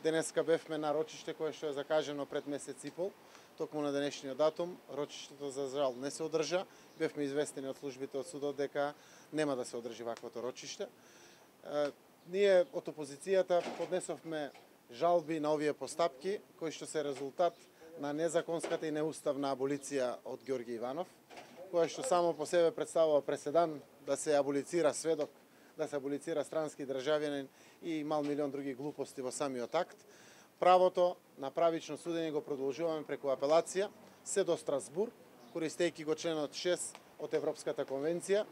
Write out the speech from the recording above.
Денеска бевме на рочиште кое што е закажено пред месец и пол, токму на денешниот датум. Рочиштето за жал не се одржа. Бевме известени од службите од судот дека нема да се одржи ваквото рочиште. Ние од опозицијата поднесовме жалби на овие постапки, кои што се резултат на незаконската и неуставна аболиција од Ѓорги Иванов, која што само по себе представува преседан да се аболицира сведок, да се аболицира странски државјанин и мал милион други глупости во самиот акт. Правото на правично судење го продолжуваме преку апелација, се до Страсбур, користејќи го членот 6 од Европската конвенција,